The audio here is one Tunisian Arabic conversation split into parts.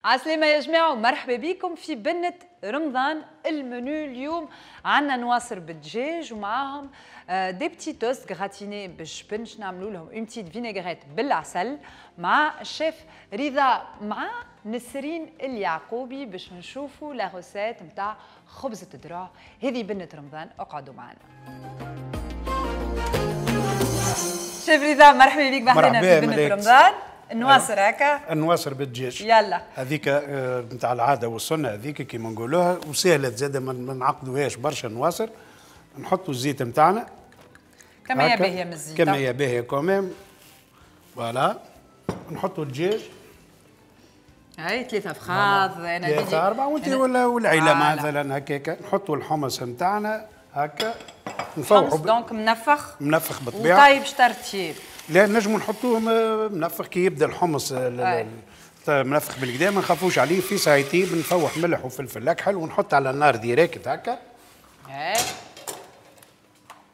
عسلامة يا جماعة ومرحبا بكم في بنة رمضان. المنيو اليوم عندنا نواصر بالدجاج ومعاهم des petits toasts gratinés بالجبن، باش نعملوا لهم une petite vinaigrette بالعسل مع الشيف رضا مع نسرين اليعقوبي باش نشوفوا la recette نتاع خبزة الدرع. هذه بنة رمضان، اقعدوا معنا. شيف رضا مرحبا بك بحنا في بنة رمضان. النواصر هكا، النواصر بالدجاج يلا هذيك نتاع العادة والسنة هذيك كيما نقولوها، وسهلة زاده ما نعقدوهاش برشا. النواصر نحطوا الزيت نتاعنا كمية باهيه من الزيت، كمية باهيه quand même voilà. نحطوا الدجاج هاي 3 فخاذ، انا 3 4 وانت ولا والعيلة مثلا هكاك. نحطوا الحمص نتاعنا هكا نفوحوا donc منفخ منفخ بالطبيعة وطايب شطرتيب. لا نجموا نحطوه منفخ كي يبدا الحمص منفخ بالكدا ما نخافوش عليه، في ساعة يطيب نفوح ملح وفلفل اكحل ونحط على النار direct هكا. اي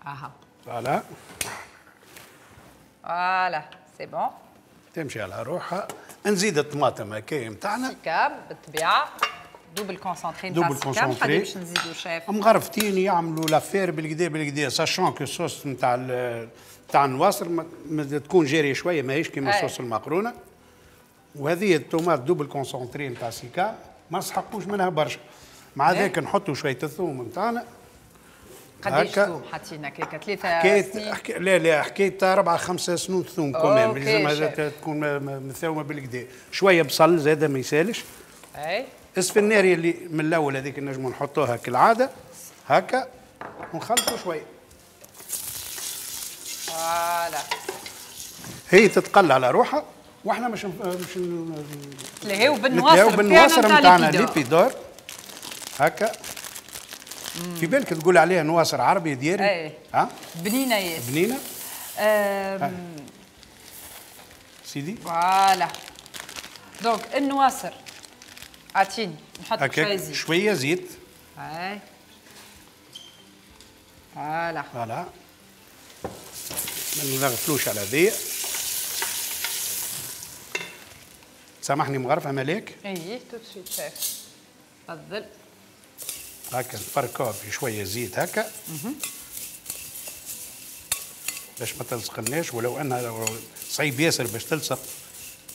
اها voilà voilà c'est bon تمشي على روحها. نزيد الطماطم هكا نتاعنا سيكام بالطبيعة double concentré double concentré باش نزيدو شاف مغرفتين يعملوا l'affaire بالكدا بالكدا، sachant que ال sauce نتاع تاع النواصر تكون جارية شوية ماهيش كيما صوص المقرونه. وهذه ال tomate double concentré نتاع سيكا ما نسحقوش منها برشا. مع ذاك نحطوا شوية الثوم نتاعنا. قداش ثوم حاطين هكاك؟ 3 حكاية لا لا حكاية 4 5 سنون ثوم quand même، لازم تكون مثومه بالكدا. شوية بصل زاده ما يسالش. اي السفناري اللي من الاول هذيك نجموا نحطوها كالعادة هكا ونخلطوا شوية. voilà هي تتقلى على روحها واحنا مش نتلهيو بالنواصر نتاعنا l'épi d'or هكا. في بالك تقول عليها نواصر عربي دياري. اي ها بنينه ياسر بنينه. سيدي voilà donc النواصر عطيني نحط شوية زيت شوية زيت. اي voilà voilà ما نغفلوش على ذي. سامحني مغرفه ملاك. اي tout de suite chef تفضل. هكا نفركوها في شوية زيت هكا باش ما تلصقناش، ولو انها صعيب ياسر باش تلصق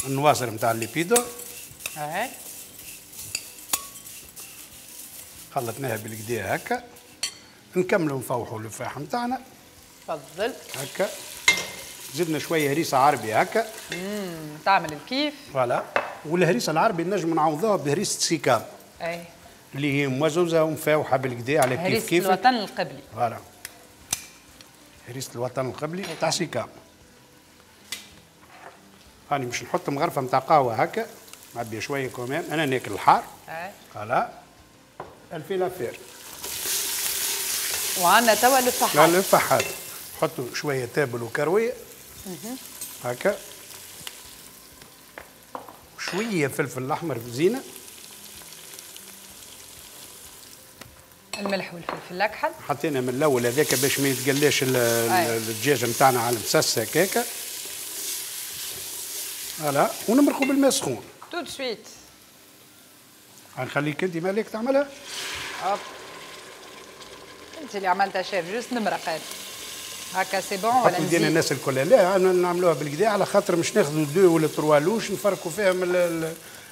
النواصر نتاع les épis d'or. اي خلطناها بالكدا هكا. نكملوا نفوحوا الفاح نتاعنا. تفضل هكا زدنا شوية هريسه عربي هكا تعمل الكيف. voilà والهريسه العربي نجم نعوضوها بهريسه سيكام. اي اللي هي موزوزه ومفاوحه بالكدا على كيف كيف. هريسه الوطن القبلي. voilà هريسه الوطن القبلي تاع سيكام. هاني باش نحط مغرفه نتاع قهوة هكا معبيه شوية quand même، انا ناكل الحار. اي voilà elle fait l'affaire. وعندنا توا الفحات. الفحات نحطوا شوية تابل وكرويه هكا، وشوية فلفل احمر بزينه، الملح والفلفل الاكحل حطينا من الاول هذاك باش ما يتقلاش الدجاج نتاعنا على المسس هكاكا. voilà ونمرقوا بالماء سخون tout de suite. غنخليك انت مالك تعملها. hop انت اللي عملتها chef، juste نمرق هكا c'est bon ولا نزيد الناس الكل؟ لا نعملوها بالكدا على خاطر مش ناخذوا deux ولا trois louches نفركوا فيهم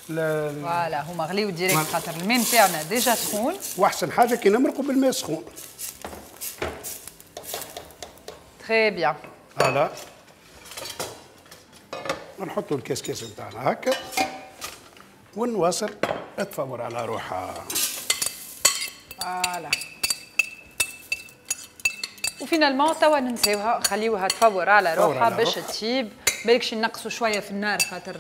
voilà هما غليو direct خاطر الماء نتاعنا déjà سخون. واحسن حاجة كي نمرقوا بالماء سخون. très bien. voilà نحطوا الكسكاس نتاعنا هكا ونواصل تفور على روحها. voilà و finalement توا ننساوها نخليوها تفور على روحها باش تطيب. بالكش نقصوا شوية في النار خاطر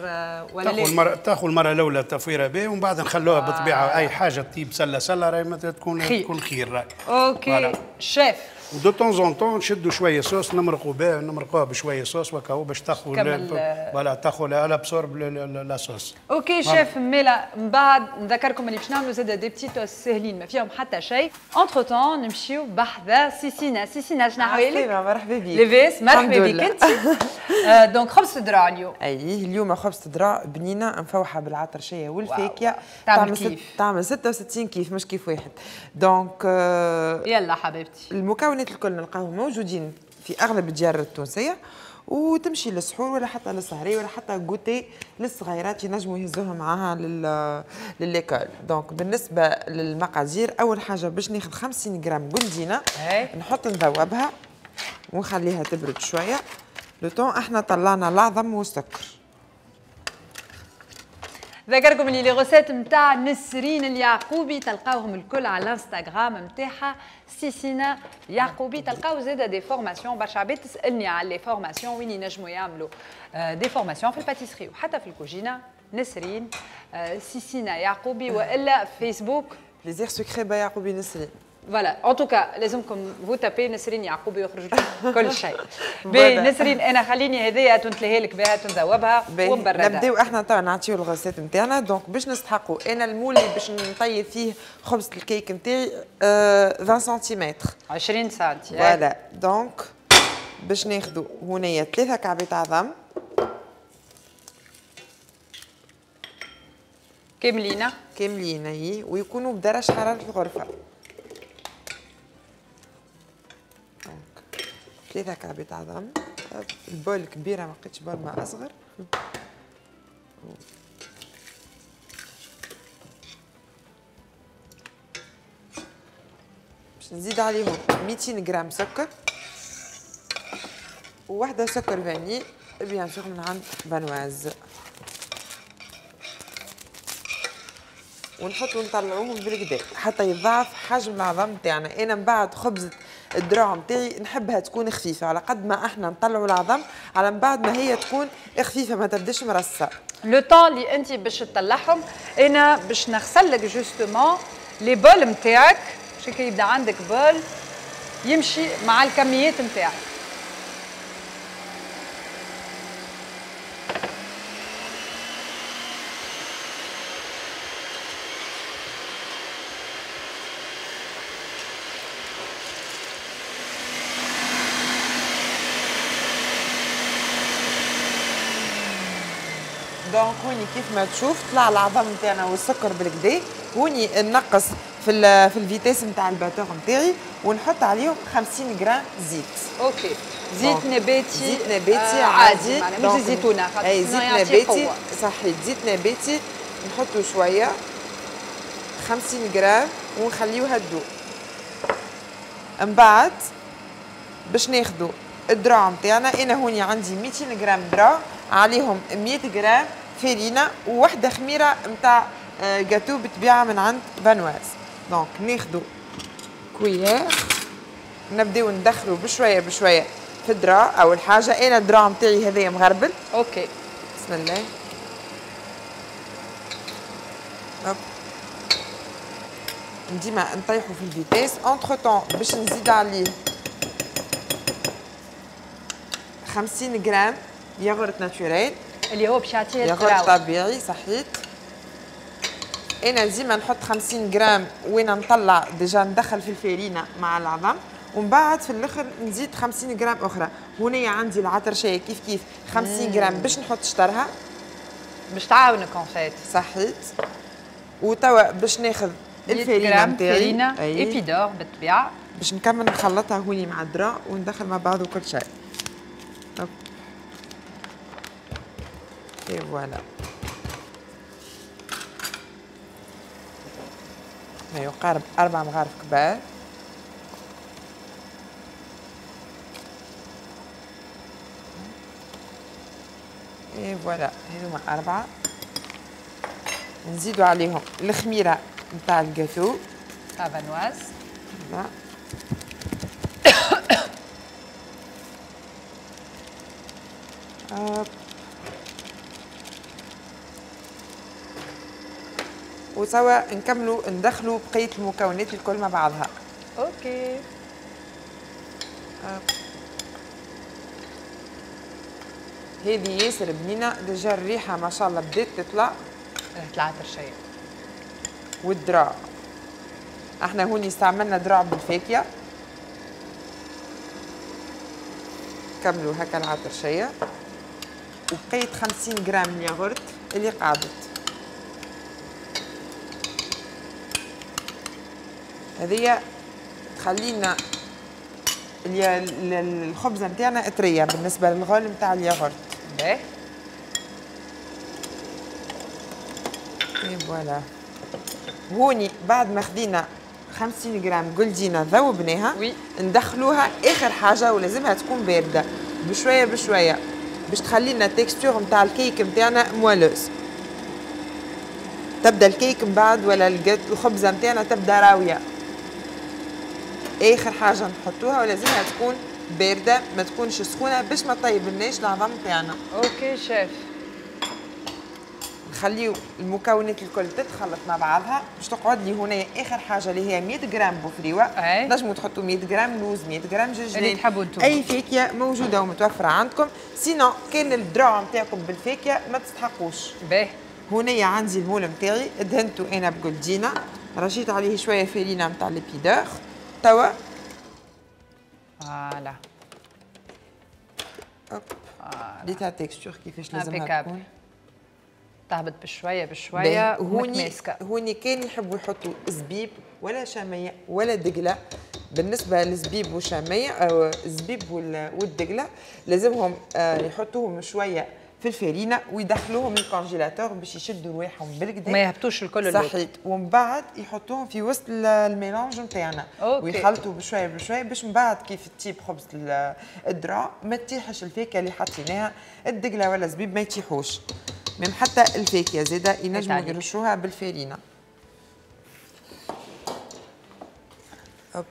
ولا لا تاخذ المرة الاولى تفويره به ومن بعد نخلوها بالطبيعة اي حاجة تطيب سله سله راهي تكون خير راهي. OK. شيف. و de temps en temps نشدوا شوية صوص نمرقوا بها، نمرقوها بشوية صوص وكاو باش تاخذ voilà تاخذ elle absorbe la sauce. OK chef. ميلا من بعد نذكركم اللي باش نعملوا زاد des petits toasts ساهلين ما فيهم حتى شيء. entre-temps نمشيو بحذا سيسينا. سيسينا شنو حوالك؟ مرحبا بك. لاباس؟ مرحبا بك انت. donc خبز درع اليوم. اي اليوم خبز درع بنينه مفوحه بالعطرشيه والفاكهه. تعمل كيف؟ تعمل 66 كيف مش كيف واحد. donc يلا حبيبتي المكونات الكل نلقاهم موجودين في اغلب الديار التونسية، وتمشي للسحور ولا حتى للسهريه ولا حتى goûter للصغيرات ينجموا يهزوها معاها ل l'école. donc بالنسبة للمقادير، اول حاجة باش ناخذ 50 غرام بلدينه نحط نذوبها ونخليها تبرد شوية. le temps احنا طلعنا العظم والسكر. ذكركم اللي les recettes نتاع نسرين اليعقوبي تلقاوهم الكل على الانستغرام نتاعها سيسينا يعقوبي. تلقاو زاده des formations، برشا عباد تسالني على les formations وين ينجموا يعملوا des formations في ال pâtisserie وحتى في الكوجينه. نسرين سيسينا يعقوبي، والا فيسبوك plaisir sucré by يعقوبي نسرين. voilà en tout cas لازمكم vous tapez نسرين يعقوبي يخرج لكم كل شيء. باهي نسرين، انا خليني هذيا تنتلهي لك بها تنذوبها ونبردها. نبداو احنا توا نعطيو ال recette نتاعنا. donc باش نستحقوا انا ال moule اللي باش نطيب فيه خبز الكيك نتاعي 20 سنتيمتر، 20 سنتي. voilà donc باش ناخذوا هنايا 3 كعبات عظم كاملين كاملين اي، ويكونوا بدرجة حرارة الغرفة. 3 كعبات عظم. ال bol كبيرة ما لقيتش bol ما أصغر. باش نزيد عليهم 200 غرام سكر وواحدة سكر vanillé bien sûr من عند Vanoise، ونحطو نطلعوهم بالكدا حتى يضاعف حجم العظم تاعنا. انا من بعد خبزة الدراع نتاعي نحبها تكون خفيفة، على قد ما احنا نطلعوا العظم على من بعد ما هي تكون خفيفة ما تبداش مرصه. le temps اللي انت باش تطلعهم انا باش نغسل لك justement les bols نتاعك، باش كي يبدا عندك bol يمشي مع الكميات نتاعك. donc هوني كيف ما تشوف طلع العظم نتاعنا والسكر بالكدا. هوني نقص في ال vitesse نتاع ال batteur نتاعي ونحط عليهم 50 غرام زيت. OK زيت نباتي. زيت نباتي عادي، مش زيتونه. اي زيت نباتي صحيح، زيت نباتي نحطو شوية 50 غرام ونخليوها تذوب. من بعد باش ناخذوا الدراع نتاعنا، انا هوني عندي 200 غرام دراع عليهم 100 غرام فرينه وواحدة خميره نتاع جاتو بتبيعها من عند Vanoise. donc ناخذوا cuillère نبداو ندخلوا بشوية بشوية في الدراع. اول حاجة انا الدراع نتاعي هذايا مغربل. OK بسم الله. hop ديما نطيحوا في ال vitesse. entre-temps باش نزيد عليه 50 غرام yaourt naturel اللي هو باش يعطيه ياغورت طبيعي صحيت. انا ديما نحط 50 غرام وين نطلع déjà ندخل في الفارينه مع العظم، ومن بعد في الاخر نزيد 50 غرام اخرى. هنا عندي العطرشيه كيف كيف 50 غرام باش نحط شطرها باش تعاونك en fait صحيت. وتوا باش ناخذ الفارينه نتاعي فرينه Épidor بالطبيعة باش نكمل نخلطها هوني مع الدرا وندخل مع بعض وكل شيء. et voilà ما يقارب 4 مغارف كبار. et voilà هذوما 4. نزيدو عليهم الخميره نتاع الجاتو تاع Vanoise. وسوا نكملوا ندخلوا بقية المكونات الكل مع بعضها. OK هذه ياسر بنينه، déjà الريحة ما شاء الله بدات تطلع. طلعت رشيه. والدرع احنا هوني استعملنا درع بالفاكهه. كملوا هكا العطرشيه، وبقيت 50 غرام ياغورت اللي قعدت. هذه تخلينا الخبزة نتاعنا طرية بالنسبة للغول نتاع الياغورت. باهي. et voilà. هوني بعد ما خدينا 50 غرام جولدينا ذوبناها، ندخلوها اخر حاجة ولازمها تكون باردة بشوية بشوية باش تخلينا ال texture نتاع الكيك نتاعنا moelleuse. تبدا الكيك من بعد ولا الخبزة نتاعنا تبدا راويه. اخر حاجة نحطوها ولازمها تكون باردة، ما تكونش سخونة باش ما طيبلناش العظم تاعنا. OK chef. نخليو المكونات الكل تتخلط مع بعضها باش تقعد لي هنا اخر حاجة اللي هي 100 غرام بوفريوه. نجموا تحطوا 100 غرام لوز، 100 غرام جنجلان، اللي تحبوا انتم، اي فاكهة موجودة ومتوفره عندكم. sinon كان الدرع نتاعكم بالفاكهه ما تستحقوش. باهي. هنا عندي ال moule نتاعي دهنته انا بجولدينا، رشيت عليه شوية فرينه نتاع les Épis d'Or توا. voilà. hop ريتها texture كيفاش لازمها تكون. تهبط بشوية بشوية. هوني هوني كان يحبوا يحطوا زبيب ولا شامية ولا دقله. بالنسبة للزبيب والشاميه او الزبيب والدقله لازمهم يحطوهم شوية في الفرينة ويدخلوهم لل congélateur باش يشدوا رواحهم بالكدا، ما يهبطوش الكل. صحيت. ومن بعد يحطوهم في وسط ال mélange نتاعنا ويخلطوا بشوية بشوية باش من بعد كيف تطيب خبز الدرع ما تطيحش الفاكهة اللي حطيناها، الدقله ولا الزبيب ما يطيحوش. même حتى الفاكهة زاده ينجموا يرشوها بالفرينه. hop.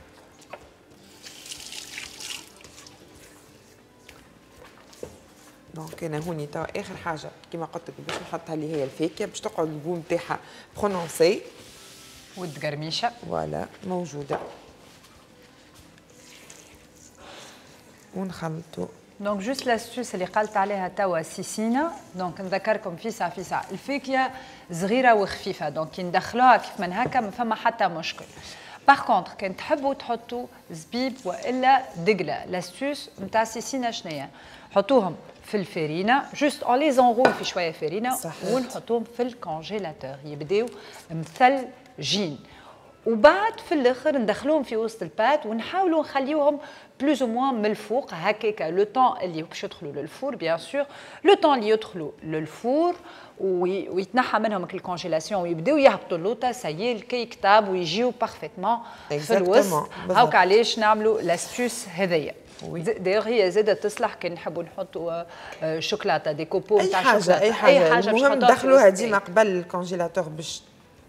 donc انا هوني توا اخر حاجة كيما قلت لك باش نحطها اللي هي الفاكهة باش تقعد ال goût نتاعها prononcé والتقرميشه. voilà موجودة. ونخلطوا. donc juste l'astuce اللي قالت عليها توا سيسينا، donc نذكركم فيسع فيسع الفاكهة صغيرة وخفيفة، donc كي ندخلوها كيف من هكا ما فما حتى مشكل. par contre كان تحبوا تحطوا زبيب والا دقله، l'astuce نتاع سيسينا شنيا؟ حطوهم في الفرينة، juste on les enroule في شوية فرينه ونحطوهم في ال congélateur يبداو مثلجين، وبعد في الاخر ندخلوهم في وسط ال pâte ونحاولوا نخليوهم plus ou moins من الفوق هكاك le temps اللي باش يدخلوا لل four. bien sûr le temps اللي يدخلوا لل four ويتنحى منهم ال congélation ويبداو يهبطوا اللوطه، ça y est الكيك طاب ويجيو parfaitement في الوسط. هاوك علاش نعملوا l'astuce هذيا. d'ailleurs هي زاده تصلح كي نحبوا نحطوا شوكولاتة des copeaux نتاع شوكولاتة، اي حاجة، اي حاجة. المهم دخلوها ديما قبل ال congélateur باش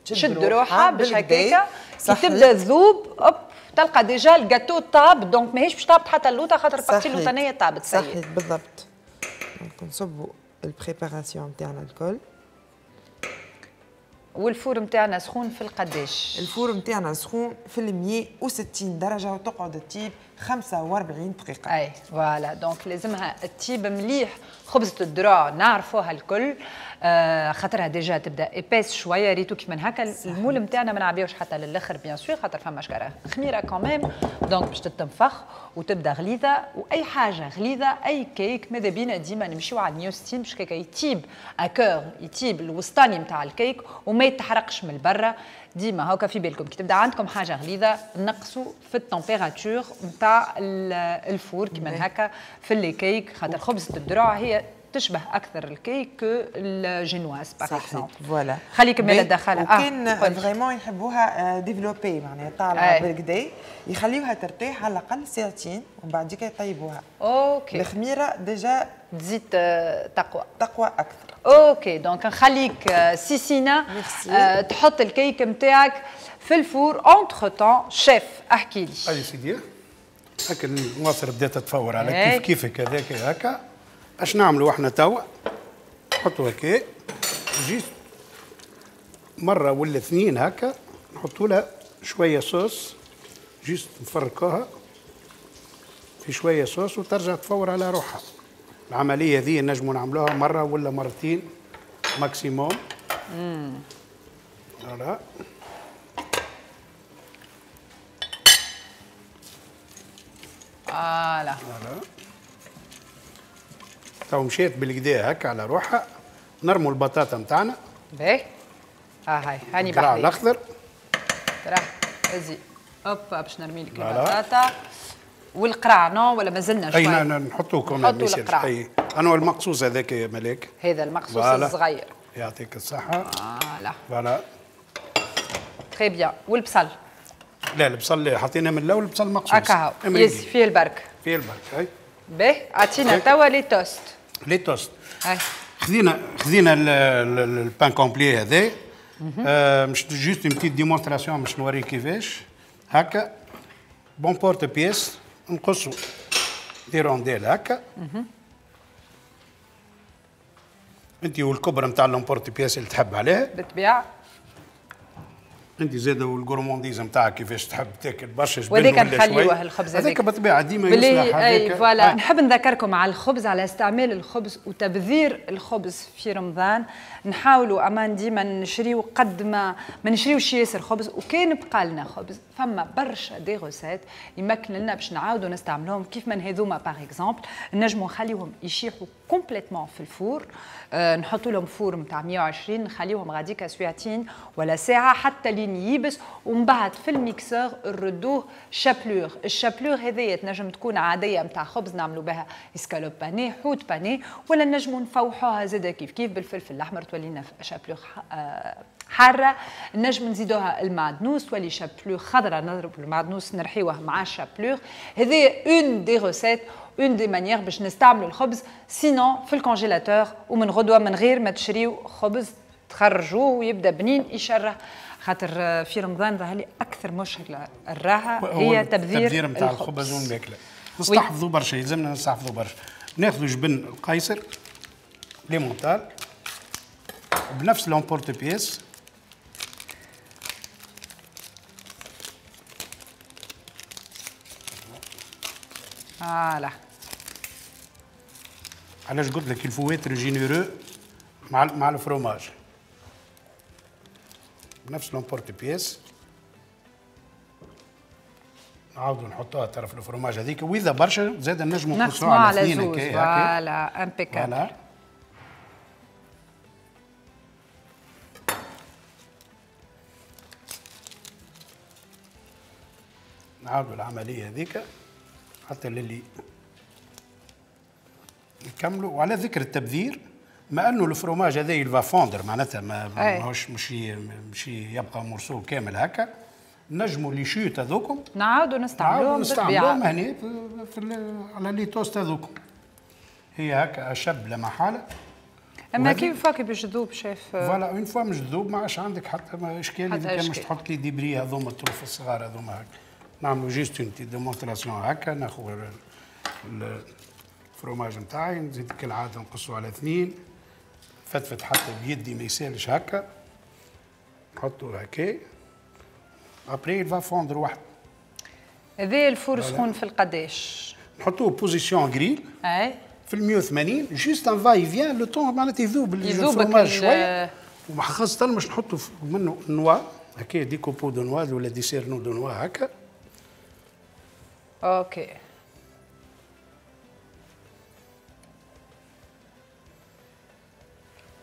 تشد روحها، باش هكاكا كي تبدا تذوب hop تلقى déjà ال gâteau طاب، donc ماهيش باش طابت حتى اللوطه خاطر ال partie اللوطانيه طابت. صحيح بالضبط. donc نصبوا ال préparation نتاعنا الكل. وال four نتاعنا سخون في القداش؟ ال four نتاعنا سخون في 160 درجه وتقعد تطيب 45 دقيقة. اي voilà، donc لازمها تطيب مليح. خبزه الدرع نعرفوها الكل، خاطرها déjà تبدا épaisse شوية، ريتو كيف من هكا ال moule نتاعنا ما نعبيوش حتى للاخر bien sûr خاطر فما شكاره خميره quand même، donc باش تتنفخ وتبدا غليظة. واي حاجة غليظة اي كيك ماذا بينا ديما نمشيو على 160 باش كيكا يطيب à cœur، يطيب الوسطاني نتاع الكيك وما يتحرقش من برا. ديما هاكا في بالكم كي تبدا عندكم حاجة غليظة نقصوا في ال température نتاع ال four كيما هكا في les cakes، خاطر خبزه الدرع هي تشبه اكثر الكيك ال génoise par exemple. voilà خليك من الدخلة. وكان vraiment يحبوها développée معناها طالعه بالكدا يخليوها ترتاح على الاقل ساعتين ومن بعد يطيبوها. OK الخميره déjà تزيد تقوى تقوى اكثر. OK donc نخليك سيسينا تحط الكيك نتاعك في ال four. entre-temps chef احكي لي. اي سيدي هكا النواصر بدات تتفور على كيف كيفك هذاك هكا. اش نعملوا احنا توا؟ نحطوا هكا juste مرة ولا اثنين هكا، نحطوا لها شوية sauce juste نفركوها. في شوية صوص وترجع تفور على روحها. العملية ذي نجموا نعملوها مرة ولا مرتين maximum. voilà voilà voilà تو مشيت بالكدا هكا على روحها. نرموا البطاطا نتاعنا. باهي هاي هاني بحذاك الاخضر راه ازي هوبا باش نرمي لك البطاطا والقرع non ولا مازلنا شوي؟ اي نحطوه كمان نحطوا اي انا المقصوص هذاك يا ملاك، هذا المقصوص الصغير. يعطيك الصحة. voilà voilà très bien. والبصل؟ لا البصل حطينا من الاول البصل مقصوص هكا هو يزي فيه البرك، فيه البرك. اي باهي اعطينا توا les toasts. les toasts اي خذينا ال pain complet هذا. مش juste une petite démonstration باش نوريك كيفاش. هكا ب l'emporte-pièce نقصوا des rondelles هكا. انت والكبر نتاع l'emporte-pièce اللي تحب عليها بالطبيعة. انت زاد وال gourmandise نتاعك كيفاش تحب تاكل برشا جبن وهذاك نخليوه الخبز هذاك بالطبيعة ديما يصلح اي voilà. نحب نذكركم على الخبز، على استعمال الخبز وتبذير الخبز في رمضان. نحاولوا امان ديما نشريو قد ما نشريوش ياسر خبز، وكان بقى لنا خبز فما برشا des recettes يمكن لنا باش نعاودوا نستعملوهم كيف من هذوما par exemple. نجموا نخليوهم يشيحوا complètement في ال four. نحطوا لهم four نتاع 120، نخليوهم غاديكا سويعتين ولا ساعة حتى لين يبس، ومن بعد في ال mixeur نردوه chapelure. ال chapelure هذيا تنجم تكون عادية نتاع خبز نعملوا بها escalope panée، حوت pané، ولا نجموا نفوحوها زاده كيف كيف بالفلفل الاحمر تولي لنا chapelure حارة. نجم نزيدوها المعدنوس تولي chapelure خضراء، نضرب المعدنوس نرحيوه مع ال chapelure. هذه une des recettes، une des manières باش نستعملوا الخبز. sinon في ال congélateur ومن غدوه من غير ما تشريو خبز تخرجوه ويبدا بنين يشره. خاطر في رمضان ظهر لي اكثر مشكلة الراحة هي تبذير نتاع الخبز والماكله. نستحفظوا برشا، يلزمنا نستحفظوا برشا. ناخذوا جبن القيصر l'emmental بنفس l'emporte-pièce. voilà علاش قلت لك il faut être généreux مع الفروماج. بنفس l'emporte-pièce نعاودوا نحطوها طرف الفروماج هذيك، واذا برشا زاد نجموا نقصوها على اثنين هكا. voilà impeccable. نعاودوا العملية هذيك حتى للي نكملوا. وعلى ذكر التبذير، ما انه الفروماج هذا il va fondre معناتها ماهوش مش يبقى morceau كامل هكا. نجموا les chutes هذوكم نعاودوا نستعملوهم نستعملوهم هنا على les toasts هذوكم. هي هكا اشب لا محالة. اما كيف فاكي باش تذوب chef؟ voilà une fois مش تذوب ما عادش عندك حتى اشكال اذا كان مش تحط les débris هذوما الطروف الصغار هذوما هكا. نعملوا juste une petite démonstration هكا. ناخذ الفروماج نتاعي نزيد كالعادة نقصوا على اثنين، فتفت حتى بيدي ما يسالش هكا، نحطو هكا après il va fondre وحده. هذا ال four سخون في القداش؟ نحطوه position grill اي في ال 180 juste un va-et-vient le temps معناتها يذوب الفروماج شوية، وخاصة باش نحطو منه noix هكا des copeaux de noix ولا des cerneaux de noix هكا. OK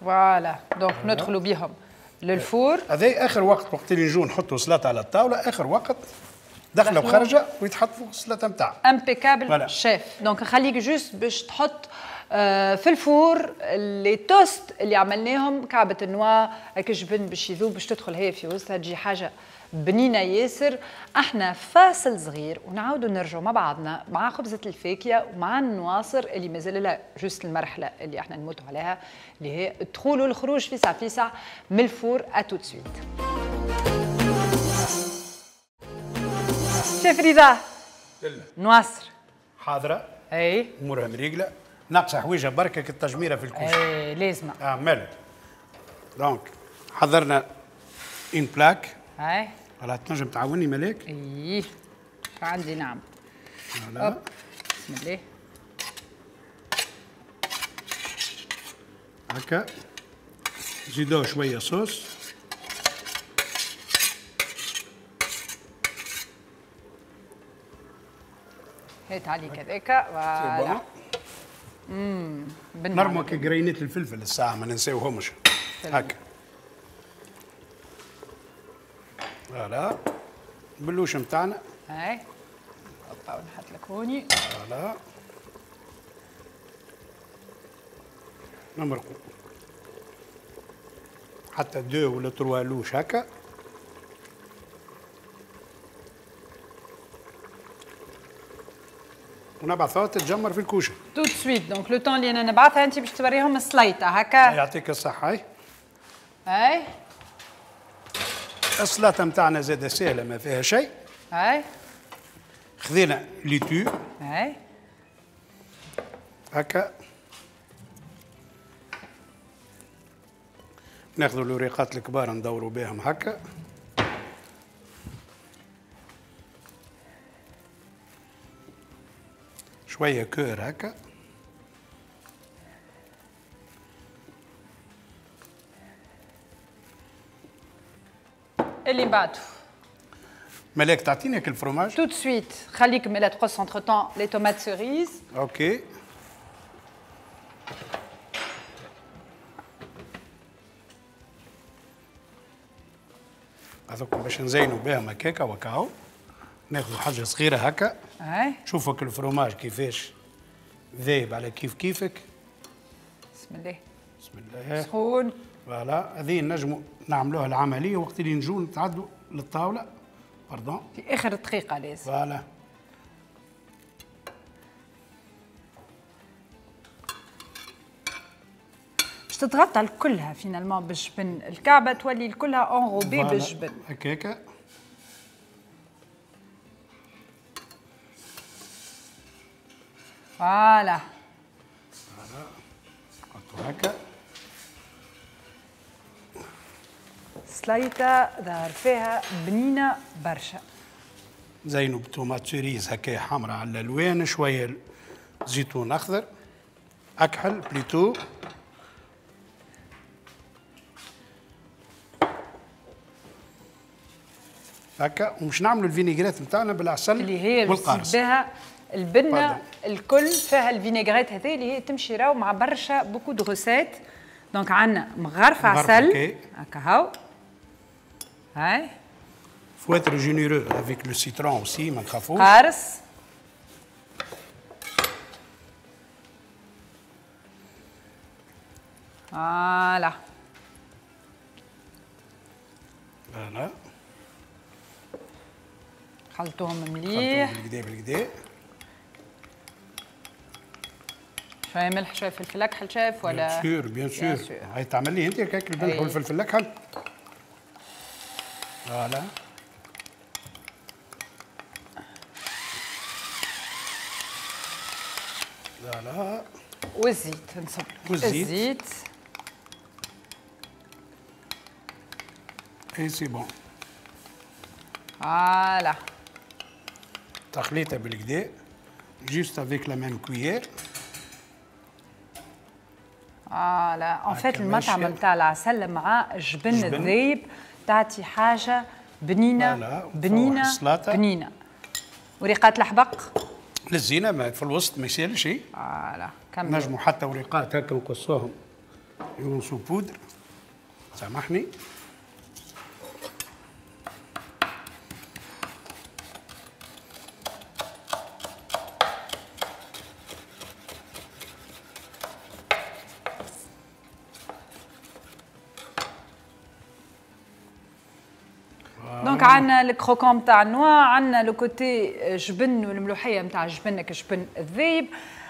voilà donc ندخلوا بيهم لل four. هذا اخر وقت، وقت اللي نجو نحطوا سلطة على الطاولة اخر وقت دخله وخرجه ويتحط فوق السلطة نتاعها. impeccable chef. donc نخليك juste باش تحط في ال four les toasts اللي عملناهم، كعبه ال noix هكا جبن باش يذوب باش تدخل هي في وسطها تجي حاجة بنينه ياسر. احنا فاصل صغير ونعاودوا نرجعوا مع بعضنا مع خبزه الفاكهة ومع النواصر اللي مازال لها juste المرحلة اللي احنا نموتوا عليها اللي هي الدخول والخروج فيسع فيسع من ال four. à tout de suite. شيف رضا نواصر حاضره اي امورها مريقله، ناقصه حويجه بركة التجميره في الكوشة. اي لازمه مالك. donc حضرنا une plaque. اي voilà تنجم تعاوني ملاك؟ ايه عندي نعم. voilà بسم الله. هكا زيدوه شوية صوص. هات عليك هذاك voilà. نرموا كجرينات الفلفل الساعة ما ننساوهمش. هكا voilà البلوش نتاعنا. هاي هوبا ونحط لك هوني. voilà نمرقو حتى deux ولا trois louches هكا. ونبعثوها تتجمر في الكوشة. tout de suite donc le temps اللي انا نبعثها انت باش توريهم السليطه هكا. يعطيك الصحة. هاي هاي السلطة نتاعنا زاده سهلة ما فيها شيء. هاي خذينا laitue. هاي هكا ناخذوا الوريقات الكبار ندوروا بهم هكا. شوية cœur هكا. اللي بعده ملاك تعطيني هاك ال fromage tout de suite. خليك ملا تقص entre-temps les tomates cerises. OK هذوك باش نزينوا بهم هكاكا وكاو. ناخذوا حاجة صغيرة هكا. اي شوفك الفروماج كيفاش ذايب على كيف كيفك. بسم الله بسم الله. سخون voilà. هذه نجموا نعملوها العملية وقت اللي نجوا نتعدوا للطاوله. pardon في اخر دقيقة لازم. voilà باش تتغطى كلها finalement بالجبن، الكعبة تولي كلها enrobée بالجبن هكاكا. voilà voilà نحطو هكا. سليطة ظهر فيها بنينة برشا. زينو ب tomates cerises هكا حمراء على الألوان، شوية زيتون أخضر أكحل plutôt. هكا. ومش نعملوا الفينيغريت نتاعنا بالعسل اللي هي والقارص. بها البنة الكل فيها الفينيغريت هذه اللي هي تمشي راهو مع برشا beaucoup de recettes. donc عندنا مغرفة عسل هكا هاو. هاي faut être généreux avec le citron aussi ما نخافوش. قارص. voilà voilà خلطوهم مليح. خلطوهم بالكدا بالكدا. شوية ملح شوية فلفل اكحل شاف ولا؟ bien sûr bien sûr. هاي تعمل لي انت هكاك الملح والفلفل الاكحل. voilà voilà. والزيت نصب والزيت. الزيت et c'est bon. voilà تخليطه بالكدا juste avec la même cuillère. voilà en fait المطعم نتاع العسل مع جبن الذايب تعطي حاجة بنينه بنينه بنينه. وريقات الحبق للزينة ما في الوسط ما يسالش. voilà كمل. نجموا حتى وريقات هكا نقصوهم يونسو بودر. سامحني. donc عندنا ال croquant تاع ال noix، عندنا le côté جبن والملوحيه نتاع جبنك جبن الذيب،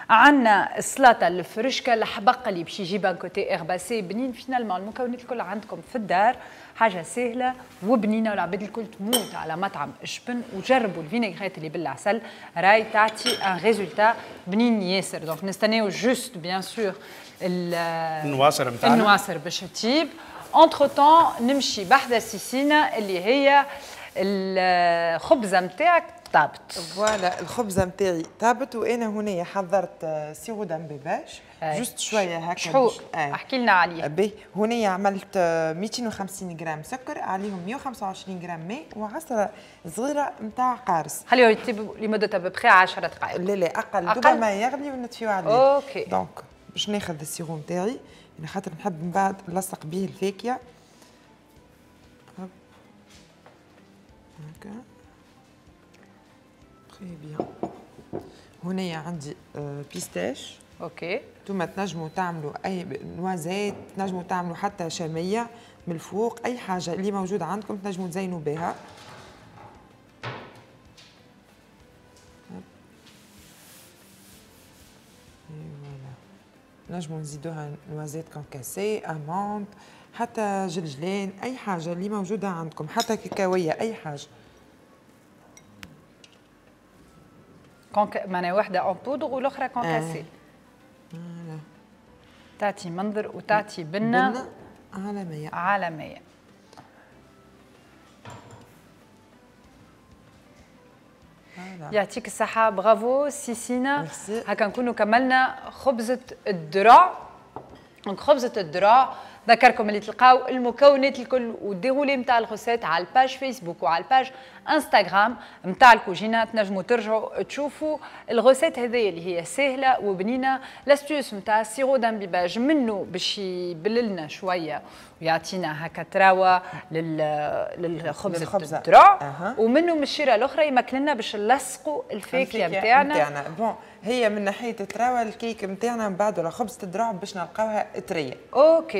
عندنا السلطة الفرشكه الحبق اللي باش يجيب un côté herbacé بنين. finalement المكونات الكل عندكم في الدار، حاجة سهلة وبنينه والعباد الكل تموت على مطعم جبن. وجربوا الفينيغريت اللي بالعسل راي تعطي un résultat بنين ياسر. donc نستناو juste bien sûr النواصر نتاعنا النواصر باش تطيب. entre-temps نمشي بحذا سيسينا اللي هي الخبزة نتاعك. طابت. voilà الخبزة نتاعي طابت، وانا هنا حضرت sirop d'imbibage juste شوية هكا. شحور احكي لنا عليه. باهي، هنا عملت 250 غرام سكر، عليهم 125 غرام ماء وعصره صغيرة نتاع قارص. خليه يطيب لمدة à peu près 10 دقائق. لا لا اقل، دوبا ما يغلي ونطفيو عليه. OK. donc باش ناخذ ال sirop نتاعي، يعني خاطر نحب من بعد نلصق به الفاكهة. هكا très bien. هنايا عندي pistache. OK. انتوما تنجموا تعملوا اي noisettes، تنجموا تعملوا حتى شامية من الفوق، اي حاجة اللي موجودة عندكم تنجموا تزينوا بها. نجموا نزيدوها noisettes concassées، amandes، حتى جلجلان، اي حاجة اللي موجودة عندكم، حتى كاكاويه، اي حاجة. معناها واحدة en poudre والاخرى concassée. تعطي منظر وتعطي بنه عالمية عالمية. يعطيك الصحة، برافو سيسينا. هكا نكونوا كملنا خبزه الدرع. donc خبزه الدرع ذكركم اللي تلقاو المكونات الكل وال déroulé نتاع ال recette على ال page فيسبوك وعلى ال page انستغرام نتاع الكوجينه، تنجموا ترجعوا تشوفوا ال recette هذه اللي هي سهلة وبنينه. l'astuce نتاع sirop d'imbibage منه باش يبللنا شوية ويعطينا هكا تراوه للخبز الدرع، ومنه من الشيره الاخرى يمكن لنا باش نلصقوا الفاكهة نتاعنا. bon هي من ناحية التراوه الكيك نتاعنا من بعد ولا خبزه الدرع باش نلقاوها طرية. OK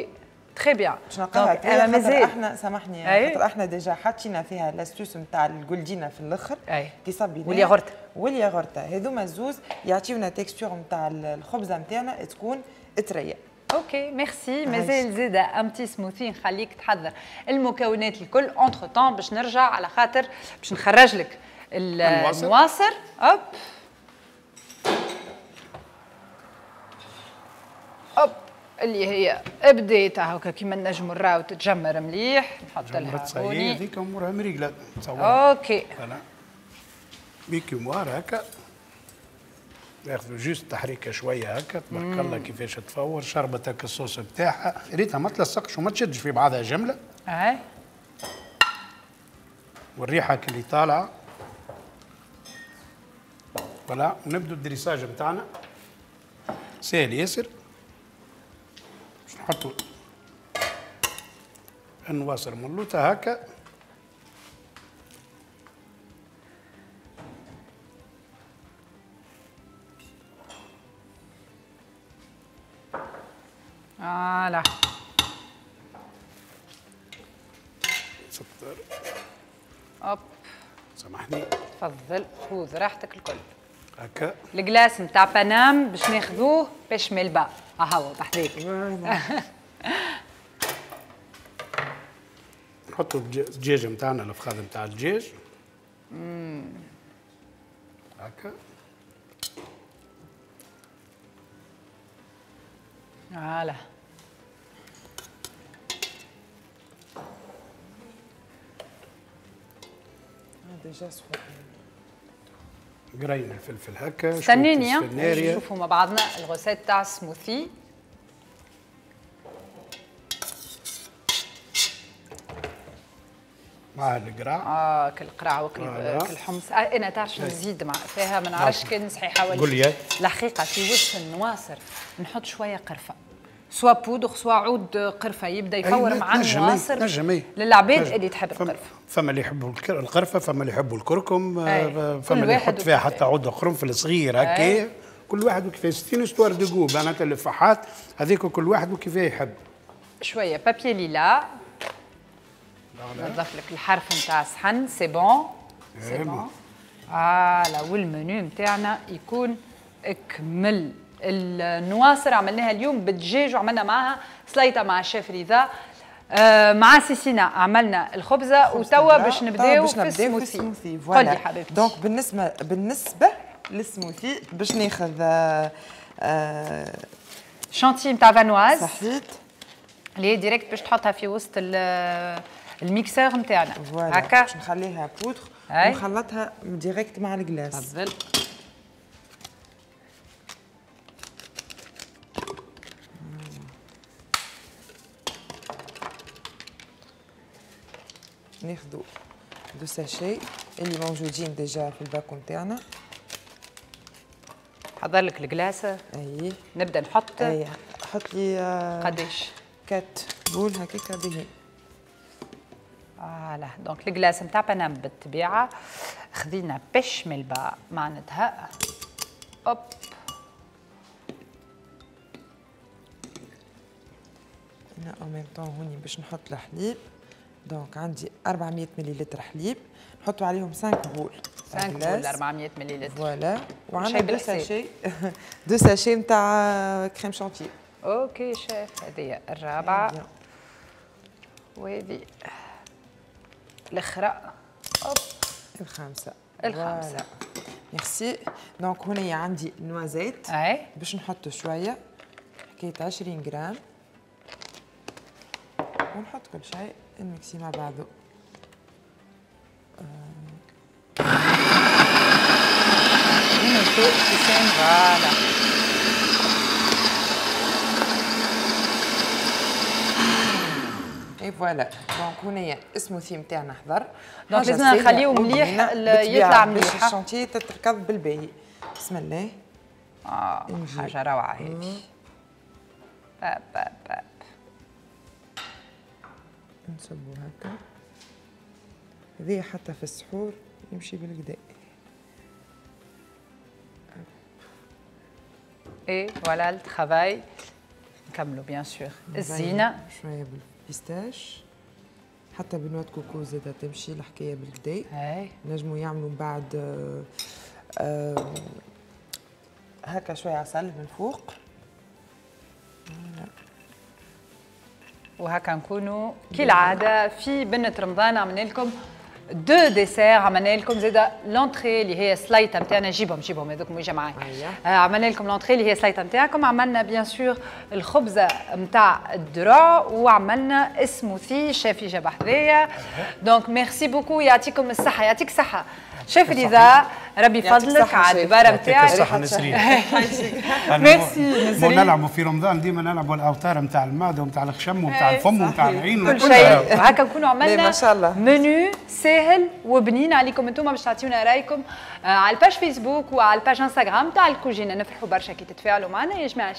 très bien. باش نلقاوها طرية، خاطر احنا سامحني خاطر احنا déjà حطينا فيها l'astuce نتاع الجولدينا في الاخر كي صبينا والياغورت والياغورتا، هذوما الزوز يعطيونا texture نتاع الخبزة نتاعنا تكون طرية. OK merci. مازال زاده un petit smoothie نخليك تحضر المكونات الكل entre-temps باش نرجع على خاطر باش نخرج لك النواصر. hop hop اللي هي بديت هكا كيما نجموا نراو تتجمر مليح. نحط لها هوني هذيك امورها مريقله. OK voilà بيكي هكا ياخذوا juste تحريكه شوية هكا. تبارك الله كيفاش تفور شربت هكا الصوص بتاعها، ريتها ما تلصقش وما تشدش في بعضها جملة. اي والريحه اللي طالعه. voilà ونبدو ال dressage نتاعنا ساهل ياسر. باش نحطوا النواصر ملوطه هكا. voilà سطر. hop سامحني. تفضل خذ راحتك الكل. هكا ال glace نتاع بنام باش ناخذوه pêche melba. ها هو بحذاك. نحطوا الدجاج نتاعنا، الفخذ نتاع الدجاج هكا. voilà déjà سخون. قرين الفلفل هكا. استنيني نشوفوا مع بعضنا ال recette تاع سموثي. مع القرع. كالقرع وكالحمص. انا تعرف نزيد مع فيها ما نعرفش كان صحيحه ولا قول لي. الحقيقة في وسط النواصر نحط شوية قرفه، soit poudre soit عود قرفه يبدا يفور مع النواصر للعباد اللي تحب القرفه. فما اللي يحبوا القرفه، فما اللي يحبوا الكركم، فما اللي يحط فيها حتى عود قرنفل صغير هكا. كل واحد وكيفاش، c'est une histoire de goût معناتها الفحات هذيك كل واحد وكيفاه يحب. شوية papier lilas نضيف لك الحرف نتاع الصحن. c'est bon c'est bon. voilà وال menu نتاعنا يكون اكمل. النواصر عملناها اليوم بالدجاج وعملنا معها سليطه مع الشيف رضا. مع سيسينا عملنا الخبزة، وتوا باش نبداو في السموثي. قولي حبيبتي. donc بالنسبة للسموثي باش ناخذ شانتي نتاع Vanoise صحيت اللي هي direct باش تحطها في وسط ال mixeur نتاعنا هكا باش نخليها بودر. ونخلطها direct مع ال glace. تفضل. ناخذوا deux sachets اللي موجودين déjà في ال paquet نتاعنا. حضر لك ال glace. اي نبدا نحط. اي حط لي قداش؟ quatre boules هكاكا باهي. voilà donc ال glace نتاع بنام بالطبيعة خذينا pêche melba معناتها. hop انا en même temps هوني باش نحط الحليب. donc عندي 400 مليلتر حليب نحطوا عليهم 5 boules. 5 boules 400 مليلتر. voilà وعندنا deux sachets deux sachets نتاع crème chantilly. OK chef، هذه الرابعة وهذه الاخرى. hop الخامسة. الخامسة. merci. donc هنا عندي noisettes باش نحط شوية حكاية 20 غرام ونحط كل شيء نميكسي مع بعضه. voilà et voilà. donc هنايا السموثي نتاعنا حضر. donc لازم نخليه مليح يطلع مليح باش الشانتيه تتركض بالباهي. بسم الله. حاجة روعه هذه. باب باب باب نصبو هكا. هذه حتى في السحور يمشي بالكدا. et voilà ال travail. نكملو bien sûr الزينة شوية بال pistache حتى ب noix de coco زاده تمشي الحكاية بالكدا. نجمو يعملوا من بعد هكا شوية عسل من فوق. وهكا نكونوا كالعادة في بنه رمضان. عملنا لكم deux desserts، عملنا لكم زاده l'entrée اللي هي سلايطه نتاعنا. جيبهم جيبهم هذوك مش معايا. عملنا لكم l'entrée اللي هي سلايطه نتاعكم، عملنا bien sûr الخبزة نتاع الدرع، وعملنا smoothie chef جاب حذايا. donc merci beaucoup، يعطيكم الصحة. يعطيك الصحة شيف رضا، ربي يفضلك على الدباره نتاعك. الصحة نسرين. ميرسي نسرين. نلعبوا في رمضان ديما نلعبوا الاوتار نتاع المعدة ونتاع الخشم ونتاع الفم ونتاع العين كل شيء. وهكا نكونوا عملنا منيو ساهل وبنين عليكم انتم باش تعطيونا رايكم على ال page فيسبوك وعلى ال page انستغرام تاع الكوجينه. نفرحوا برشا كي تتفاعلوا معنا يا جماعة.